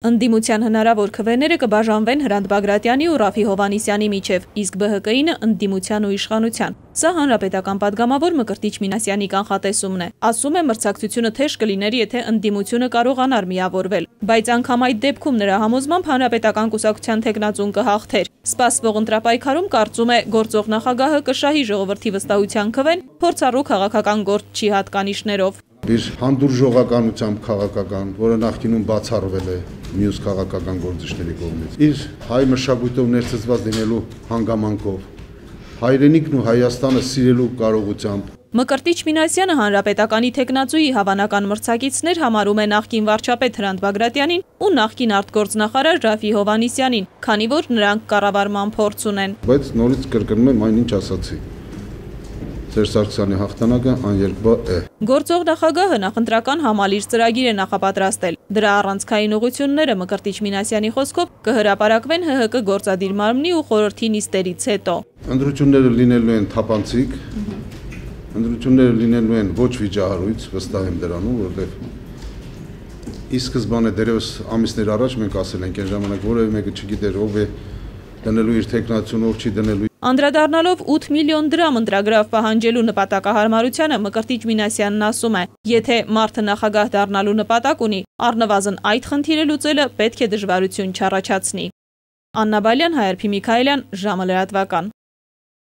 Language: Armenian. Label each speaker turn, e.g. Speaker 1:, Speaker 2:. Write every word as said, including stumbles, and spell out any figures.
Speaker 1: Ընդդիմության հնարավոր քվեները կբաժանվեն Հրանտ Բագրատյանի ու Ռաֆի Հովհաննիսյանի միջև, իսկ Բ Հ Կ-ինը ընդդիմության ու իշխանության։ Սա հանրապետական падգամավոր Մկրտիչ Մինասյանի կանխատեսումն է։ Ասում է, մրցակցությունը թեժ կլիներ, եթե ընդդիմությունը կարողանար միավորվել, բայց անգամ այդ դեպքում նրա համոզմամբ հանրապետական կուսակցության թեկնածուն կհաղթեր։ Սպասվող ընտրապայքարում կարծում է, գործող նախագահը կշահի ժողովրդի վստահության քվեն, փորձառու քաղաքական գործչի հատկանիշներով։
Speaker 2: Իր հանդուրժողականությամբ քաղաքական, որը նախկինում բացառվել է մյուս քաղաքական գործիչների կողմից, իր հայ մշակույթով ներծծված լինելու հանգամանքով, հայրենիքն ու Հայաստանը սիրելու կարողությամբ։
Speaker 1: Մկրտիչ Մինասյանը հանրապետականի թեկնածուի հավանական մրցակիցներ համարում է նախկին վարչապետ Հրանտ Բագրատյանին ու նախկին արտգործնախարար Ռաֆի Հովհաննիսյանին, քանի որ նրանք կառավարման փորձ ունեն։
Speaker 2: Բայց նորից կրկնում եմ այն ինչ ասացի։ Սերժ Սարգսյանի հաղթանակը աներկբա է։
Speaker 1: Գործող նախագահը նախընտրական համալիր ծրագիր է նախապատրաստել։ Դրա առանցքային ուղղությունները Մկրտիչ Մինասյանի խոսքով կհրապարակվեն Հ Հ Կ գործադիր մարմնի ու խորհրդի նիստերից հետո։
Speaker 2: Ընտրությունները լինելու են թափանցիկ, ընտրությունները լինելու են ոչ վիճահարույց, վստահ եմ դրանում, որովհետև ի սկզբանե դերևս ամիսներ առաջ մենք ասել ենք, այն ժամանակ որևէ մեկը չգիտեր ով է դնելու իր թեկնածուն, ով չի դնելու։
Speaker 1: Անդրադառնալով ութ միլիոն դրամ ընտրագրավ պահանջելու նպատակահարմարությանը Մկրտիչ Մինասյանն ասում է, եթե մարդը նախագահ դառնալու նպատակ ունի, առնվազն այդ խնդիրը լուծելը պետք է դժվարություն չառաջացնի։ Աննա Բալյան, Հայրփի Միքայելյան, ժամը լրատվական։